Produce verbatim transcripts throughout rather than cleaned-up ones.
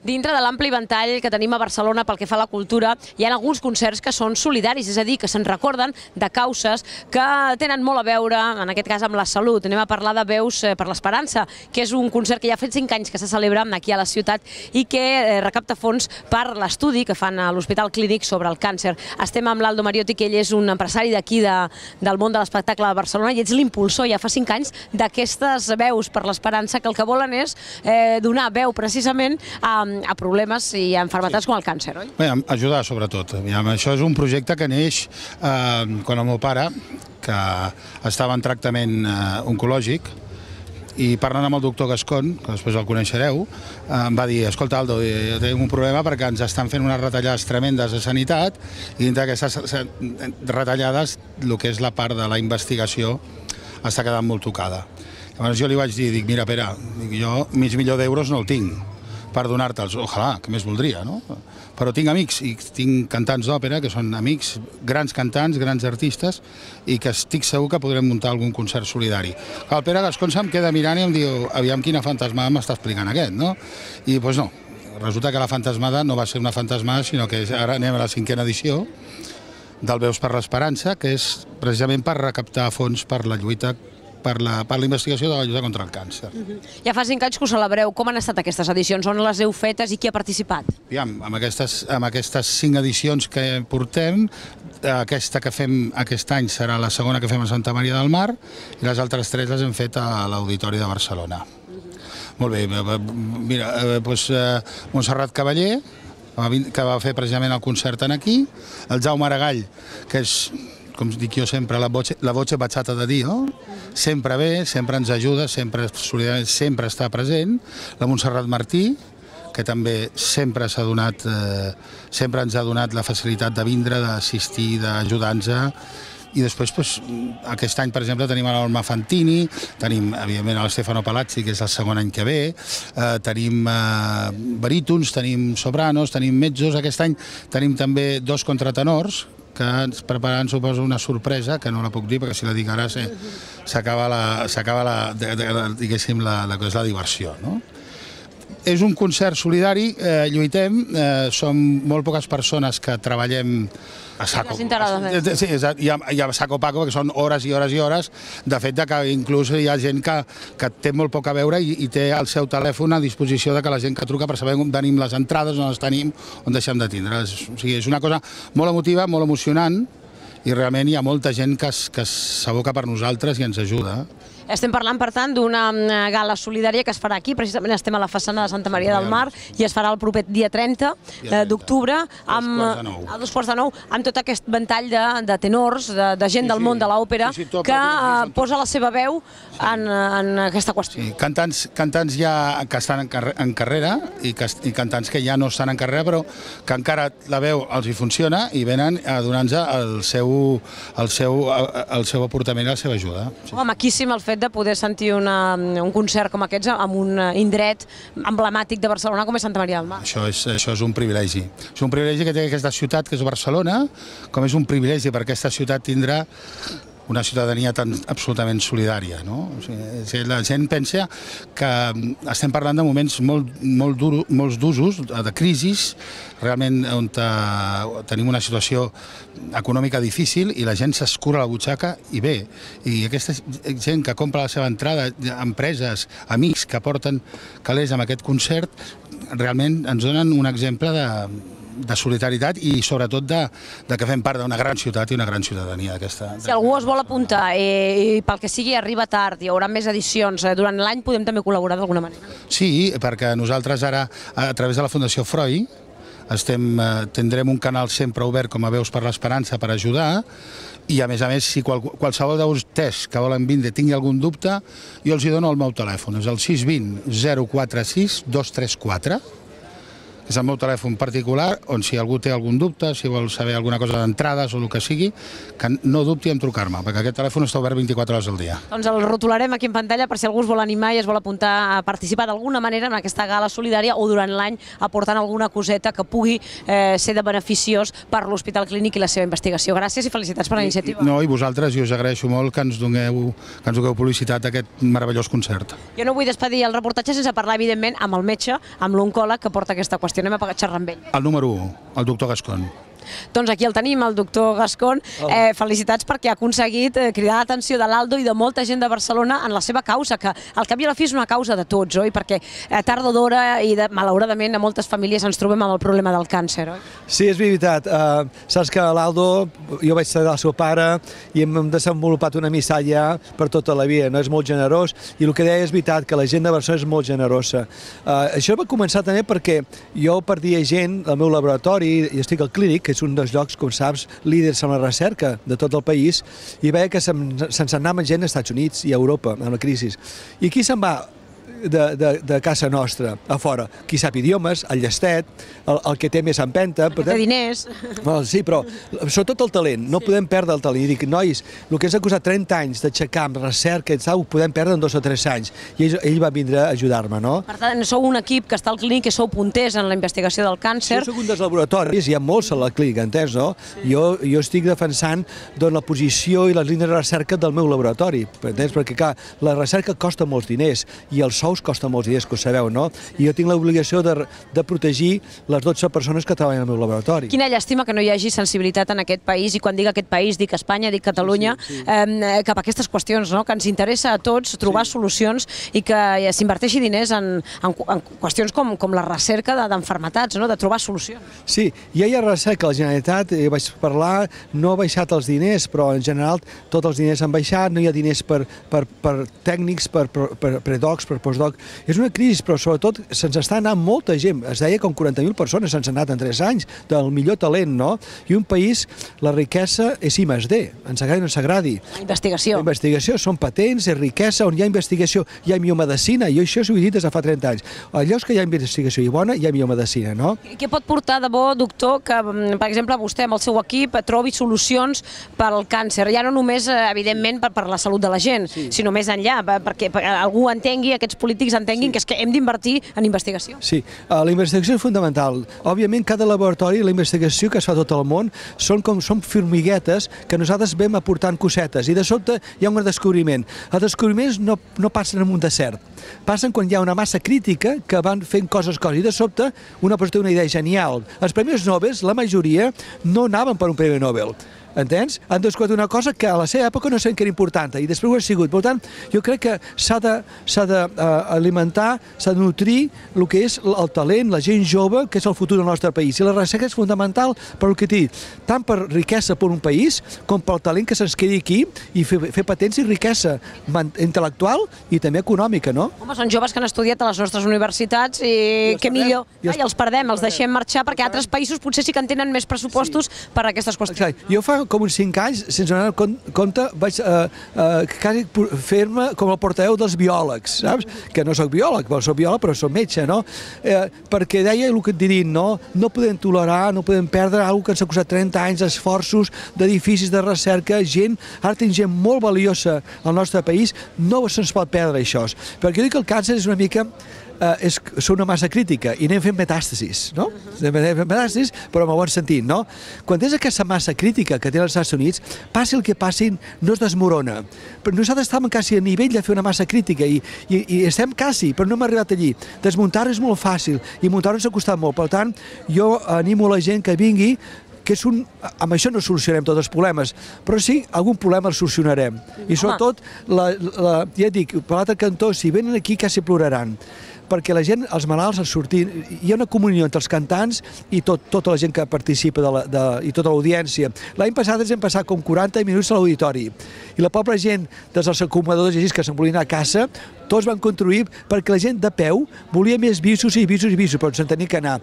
Dintre de l'ampli ventall que tenim a Barcelona pel que fa a la cultura, hi ha alguns concerts que són solidaris, és a dir, que se'n recorden de causes que tenen molt a veure, en aquest cas, amb la salut. Anem a parlar de Veus per l'Esperança, que és un concert que ja ha fet cinc anys que se celebra aquí a la ciutat i que recapta fons per l'estudi que fan a l'Hospital Clínic sobre el càncer. Estem amb l'Aldo Mariotti, que ell és un empresari d'aquí del món de l'espectacle de Barcelona i ets l'impulsor ja fa cinc anys d'aquestes Veus per l'Esperança, que el que volen és donar veu precisament a, a problemes i a malalties sí. com el càncer, oi? Bé, ajudar sobretot. Això és un projecte que neix eh, quan el meu pare, que estava en tractament eh, oncològic, i parlant amb el doctor Gascon, que després el coneixereu, em va dir, escolta Aldo, tenim un problema perquè ens estan fent unes retallades tremendes de sanitat i dintre d'aquestes retallades el que és la part de la investigació està quedant molt tocada. Llavors jo li vaig dir, dic, mira Pere, jo mig milió d'euros no el tinc per donar-te'ls, ojalà, que més voldria, no? Però tinc amics, i tinc cantants d'òpera, que són amics, grans cantants, grans artistes, i que estic segur que podrem muntar algun concert solidari. El Pere Gascon se'm queda mirant i em diu, aviam quina fantasmada m'està explicant aquest, no? I doncs no, resulta que la fantasmada no va ser una fantasmada, sinó que ara anem a la cinquena edició del Veus per l'Esperança, que és precisament per recaptar fons per la lluita per la investigació de la lluita contra el càncer. Ja fa cinc anys que ho celebreu. Com han estat aquestes edicions? On les heu fetes i qui ha participat? Aviam, amb aquestes cinc edicions que portem, aquesta que fem aquest any serà la segona que fem a Santa Maria del Mar i les altres tres les hem fet a l'Auditori de Barcelona. Molt bé, mira, doncs Montserrat Cavaller, que va fer precisament el concert aquí, el Jaume Aragall, que és, com dic jo sempre, la voce bachata de Dio, sempre ve, sempre ens ajuda, sempre sempre està present, la Montserrat Martí, que també sempre s'ha donat, sempre ens ha donat la facilitat de vindre, d'assistir, d'ajudar-nos. I després, aquest any, per exemple, tenim l'Olma Fantini, tenim, evidentment, l'Stefano Palazzi, que és el segon any que ve, tenim barítons, tenim sopranos, tenim mezzos. Aquest any tenim també dos contratenors, que ens prepararan, suposo, una sorpresa, que no la puc dir, perquè si la dic ara s'acaba la, diguéssim, la diversió, no? És un concert solidari, lluitem, som molt poques persones que treballem a saco. Sí, i a saco paco, perquè són hores i hores i hores. De fet, que inclús hi ha gent que té molt poc a veure i té el seu telèfon a disposició de que la gent que truca per saber on tenim les entrades, on les tenim, on deixem de tindre. O sigui, és una cosa molt emotiva, molt emocionant, i realment hi ha molta gent que s'aboca per nosaltres i ens ajuda. Estem parlant, per tant, d'una gala solidària que es farà aquí, precisament estem a la façana de Santa Maria del Mar, i es farà el proper dia trenta d'octubre, a dos quarts de nou, amb tot aquest ventall de tenors, de gent del món de l'òpera, que posa la seva veu en aquesta qüestió. Cantants ja que estan en carrera i cantants que ja no estan en carrera, però que encara la veu els hi funciona i venen a donar-nos el seu aportament i la seva ajuda. Home, maquíssim el fet de poder sentir un concert com aquests en un indret emblemàtic de Barcelona com és Santa Maria del Mar. Això és un privilegi. És un privilegi que té aquesta ciutat, que és Barcelona, com és un privilegi per aquesta ciutat tindrà una ciutadania tan absolutament solidària. La gent pensa que estem parlant de moments molt d'usos, de crisis, realment on tenim una situació econòmica difícil i la gent s'escura la butxaca i bé. I aquesta gent que compra la seva entrada, empreses, amics que porten calés amb aquest concert, realment ens donen un exemple de de solidaritat i sobretot que fem part d'una gran ciutat i una gran ciutadania d'aquesta. Si algú es vol apuntar i pel que sigui arriba tard, hi haurà més edicions, durant l'any podem també col·laborar d'alguna manera? Sí, perquè nosaltres ara, a través de la Fundació Freud, tindrem un canal sempre obert com a Veus per l'Esperança per ajudar i, a més a més, si qualsevol de vostès que volen vindre tingui algun dubte, jo els dono el meu telèfon, és el sis dos zero zero quatre sis dos tres quatre, és el meu telèfon particular, on si algú té algun dubte, si vol saber alguna cosa d'entrades o el que sigui, que no dubti en trucar-me, perquè aquest telèfon està obert vint-i-quatre hores al dia. Doncs el rotularem aquí en pantalla per si algú es vol animar i es vol apuntar a participar d'alguna manera en aquesta gala solidària o durant l'any aportant alguna coseta que pugui eh, ser de beneficiós per l'Hospital Clínic i la seva investigació. Gràcies i felicitats per la iniciativa. No, i vosaltres, i us agraeixo molt que ens doneu, que ens doneu publicitat a aquest meravellós concert. Jo no vull despedir el reportatge sense parlar, evidentment, amb el metge, amb l'oncòleg que porta aquesta qüestió. Anem a xerrar amb ell. El número u, el doctor Gascon. Doncs aquí el tenim, el doctor Gascon. Eh, felicitats perquè ha aconseguit eh, cridar l'atenció de l'Aldo i de molta gent de Barcelona en la seva causa, que al cap i a la fi és una causa de tots, oi? Perquè a tard o d'hora i de, malauradament a moltes famílies ens trobem amb el problema del càncer, oi? Sí, és veritat. Uh, saps que l'Aldo, jo vaig ser el seu pare i hem desenvolupat una amistat ja per tota la vida, no? És molt generós i el que deia és veritat, que la gent de Barcelona és molt generosa. Uh, això va començar també perquè jo perdia gent al meu laboratori, i estic al Clínic, que és un dels llocs, com saps, líders en la recerca de tot el país, i veia que se'n anava gent als Estats Units i a Europa, amb la crisi. I qui se'n va de, de, de casa nostra, a fora? Qui sap idiomes, el llestet, el, el que té més empenta. El que té diners. Well, sí, però sobretot el talent, no sí. podem perdre el talent. I dic, nois, el que ens ha costat trenta anys d'aixecar amb recerca, ho podem perdre en dos o tres anys. I ell, ell va vindre a ajudar-me, no? Per tant, sou un equip que està al Clínic, que sou punters en la investigació del càncer. Jo soc un dels laboratoris, hi ha molts a la Clínica, entens, no? Sí. Jo, jo estic defensant doncs, la posició i les línies de recerca del meu laboratori, entens? Perquè, clar, la recerca costa molts diners i els sous costa molts diners, que ho sabeu, no? I jo tinc l'obligació de, de protegir les dotze persones que treballen al meu laboratori. Quina llàstima que no hi hagi sensibilitat en aquest país, i quan dic aquest país, dic Espanya, dic Catalunya, sí, sí, sí. Eh, cap a aquestes qüestions, no? Que ens interessa a tots trobar sí. solucions i que s'inverteixi diners en, en, en qüestions com, com la recerca d'enfermetats, no? De trobar solucions. Sí, ja hi ha recerca. La Generalitat, eh, vaig parlar, no ha baixat els diners, però en general tots els diners han baixat, no hi ha diners per, per, per tècnics, per, per, per predocs, per postdoc. És una crisi, però sobretot se'ns està anant molta gent. Es deia com quaranta mil persones se'ns han anat en tres anys, del millor talent, no? I un país, la riquesa és I més D, ens agradi o no s'agradi. La investigació. La investigació, són patents, és riquesa, on hi ha investigació, hi ha biomedicina, i això s'ho he dit des de fa trenta anys. A llocs que hi ha investigació i bona, hi ha biomedicina, no? Què pot portar de bo, doctor, que, per exemple, vostè amb el seu equip trobi solucions per al càncer? Ja no només, evidentment, per, per la salut de la gent, sí. sinó més enllà, perquè, perquè algú entengui, aquests polítics entenguin sí. que és que hem d'invertir en investigació. Sí, uh, la investigació és fundamental. Òbviament, cada laboratori, la investigació que es fa a tot el món, són com són formiguetes que nosaltres vam aportant cosetes i de sobte hi ha un descobriment. Els descobriments no, no passen en un desert, passen quan hi ha una massa crítica que van fent coses, coses, i de sobte una persona té una idea genial. Els premis Nobel, la majoria, no anaven per un premi Nobel. Entens? Han descobert una cosa que a la seva època no sabien que era important i després ho ha sigut. Per tant, jo crec que s'ha d'alimentar, s'ha de nutrir el que és el talent, la gent jove, que és el futur del nostre país. I la recerca és fundamental per el que t'he dit, tant per riquesa per un país com pel talent que se'ns quedi aquí i fer, fer patents i riquesa intel·lectual i també econòmica, no? Home, són joves que han estudiat a les nostres universitats i què millor. I els perdem, els deixem marxar perquè altres països potser sí que en tenen més pressupostos per a aquestes qüestions. Jo fa com uns cinc anys, sense donar compte, vaig uh, uh, quasi fer-me com el portaveu dels biòlegs, saps? Que no soc biòleg, però soc biòleg, però soc metge, no? Eh, perquè deia el que et diria, no? No podem tolerar, no podem perdre alguna que ens ha costat trenta anys d'esforços, d'edificis de recerca, gent, ara tenim gent molt valiosa al nostre país, no se'ns pot perdre això. Perquè jo dic que el càncer és una mica Uh, és, és una massa crítica i anem fent metàstasis, no? Uh-huh. Metàstasis, però en el bon sentit, no? Quan tens aquesta massa crítica que té els Estats Units, passi el que passi, no es desmorona. Però nosaltres estàvem quasi a nivell de fer una massa crítica i, i, i estem quasi, però no hem arribat allí. Desmuntar-ho és molt fàcil i muntar-ho ens ha costat molt. Per tant, jo animo la gent que vingui, que és un... amb això no solucionarem tots els problemes, però sí, algun problema el solucionarem. I sobretot, la, la, ja dic, per l'altre cantó, si venen aquí quasi ploraran, perquè la gent, els malalts, els sortint, hi ha una comunió entre els cantants i tot, tota la gent que participa de la, de, i tota l'audiència. L'any passat ens hem passat com quaranta minuts a l'auditori i la pobra gent dels acumuladors i així que se'n volien anar a casa, tots van contribuir perquè la gent de peu volia més visos i visos i visos, però se'n tenia que anar.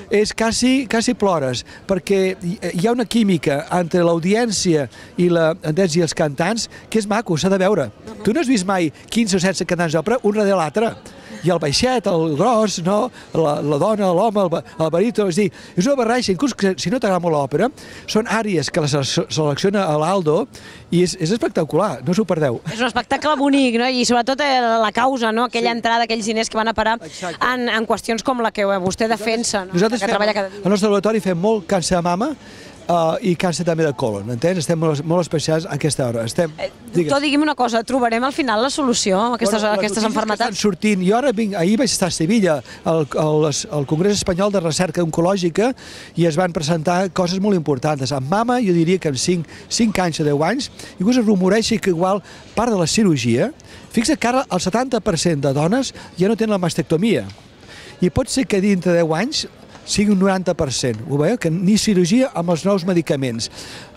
És quasi, quasi plores, perquè hi ha una química entre l'audiència i, la, i els cantants que és maco, s'ha de veure. Tu no has vist mai quinze o setze cantants d'òpera, un darrere l'altre. i el baixet, el gros, no? la, la dona, l'home, el, el baríton, és dir, és una barreja, inclús que si no t'agrada molt l'òpera, són àrees que les selecciona l'Aldo i és, és espectacular, no us ho perdeu. És un espectacle bonic, no? I sobretot la causa, no? Aquella Sí. entrada, aquells diners que van a parar en, en qüestions com la que vostè defensa, no? Nosaltres que fem, treballa cada dia. al nostre laboratori fem molt càncer de mama uh, i càncer també de colon, entens? Estem molt, molt especials a aquesta hora. Estem, Eh, doctor, digui'm una cosa, trobarem al final la solució a aquestes, Bueno, a aquestes les notícies que malalties? estan sortint, jo ara vinc, ahir vaig estar a Sevilla, al, al, al Congrés Espanyol de Recerca Oncològica, i es van presentar coses molt importants. En mama, jo diria que en cinc anys o deu anys, inclús es rumoreixi que igual part de la cirurgia, fixa't que ara el setanta per cent de dones ja no tenen la mastectomia, i pot ser que dintre de deu anys sigui un noranta per cent, ho veieu? Que ni cirurgia amb els nous medicaments.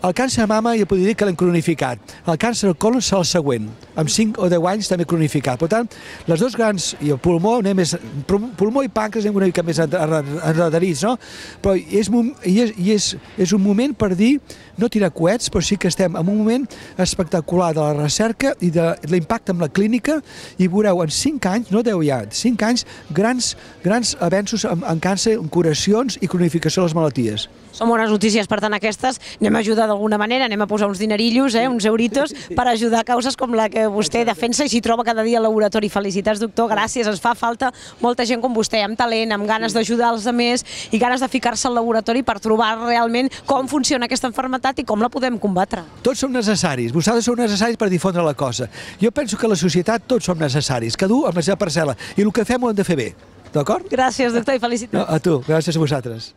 El càncer de mama ja podria dir que l'hem cronificat. El càncer del colon serà el següent, amb cinc o deu anys també cronificat. Per tant, les dos grans, i el pulmó, anem més, pulmó i pàncreas anem una mica més enredarits, no? Però és, i és, i és, és un moment per dir, no tirar coets, però sí que estem en un moment espectacular de la recerca i de l'impacte amb la clínica, i veureu en cinc anys, no deu ja, cinc anys, grans, grans avenços en, en càncer, en curacions i cronificació de les malalties. Són bones notícies, per tant, aquestes. Anem a ajudar d'alguna manera, anem a posar uns dinerillos, eh, uns euritos, per ajudar a causes com la que vostè defensa i s'hi troba cada dia al laboratori. Felicitats, doctor, gràcies. Ens fa falta molta gent com vostè, amb talent, amb ganes d'ajudar els altres i ganes de ficar-se al laboratori per trobar realment com funciona aquesta malaltia i com la podem combatre. Tots som necessaris, vosaltres sou necessaris per difondre la cosa. Jo penso que a la societat tots som necessaris, cada un amb la seva parcel·la, i el que fem ho hem de fer bé, d'acord? Gràcies, doctor, i felicitats. No, a tu, gràcies a vosaltres.